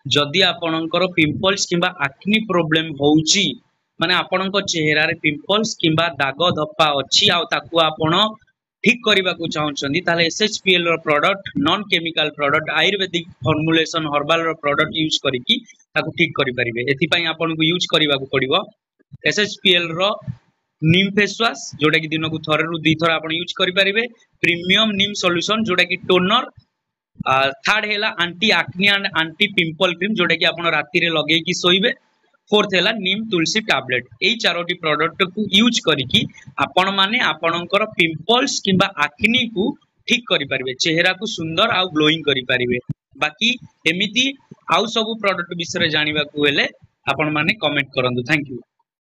ଯଦି ଆପଣଙ୍କର ପିମ୍ପଲ୍ସ କିମ୍ବା ଆକ୍ନି ପ୍ରୋବ୍ଲେମ ହଉଛି, ମାନେ ଆପଣଙ୍କ ଚେହେରାରେ ପିମ୍ପଲ୍ସ କିମ୍ବା ଦାଗ ଧପ୍ପା ଅଛି ଆଉ ତାକୁ ଆପଣ ଠିକ କରିବାକୁ ଚାହୁଁଛନ୍ତି, ତାହେଲେ ଏସ୍ଏଚପିଏଲ ର ପ୍ରଡକ୍ଟ, ନନ୍ କେମିକାଲ ପ୍ରଡକ୍ଟ, ଆୟୁର୍ବେଦିକ ଫର୍ମୁଲେସନ, ହର୍ବାଲ ର ପ୍ରଡକ୍ଟ ୟୁଜ କରିକି ତାକୁ ଠିକ କରିପାରିବେ। ଏଥିପାଇଁ ଆପଣଙ୍କୁ ୟୁଜ କରିବାକୁ ପଡିବ ଏସ୍ଏଚପିଏଲ ର ନିମ୍ ଫେସ୍ ୱାଶ, ଯୋଉଟା କି ଦିନକୁ ଥରରୁ 2 ଥର ଆପଣ ୟୁଜ କରିପାରିବେ, ପ୍ରିମିୟମ ନିମ୍ ସଲ୍ୟୁସନ, ଯୋଉଟା କି ଟୋନର, ଥାର୍ଡ ହେଲା anti acne and anti pimple cream, ଯୋଉଟା କି ଆପଣ ରାତିରେ ଲଗେଇକି ଶୋଇବେ, ଫୋର୍ଥ ହେଲା ନିମ୍ ତୁଳସୀ ଟାବଲେଟ। ଏଇ ଚାରୋଟି ପ୍ରଡକ୍ଟକୁ ୟୁଜ କରିକି ଆପଣ ମାନେ ଆପଣଙ୍କର ପିମ୍ପଲ୍ସ କିମ୍ବା ଆକ୍ନିକୁ ଠିକ କରିପାରିବେ, ଚେହେରାକୁ ସୁନ୍ଦର ଆଉ ଗ୍ଲୋଇଂ କରିପାରିବେ। ବାକି ଏମିତି ଆଉ ସବୁ ପ୍ରଡକ୍ଟ ବିଷୟରେ ଜାଣିବାକୁ ହେଲେ ଆପଣ ମାନେ କମେଣ୍ଟ କରନ୍ତୁ। Thank you.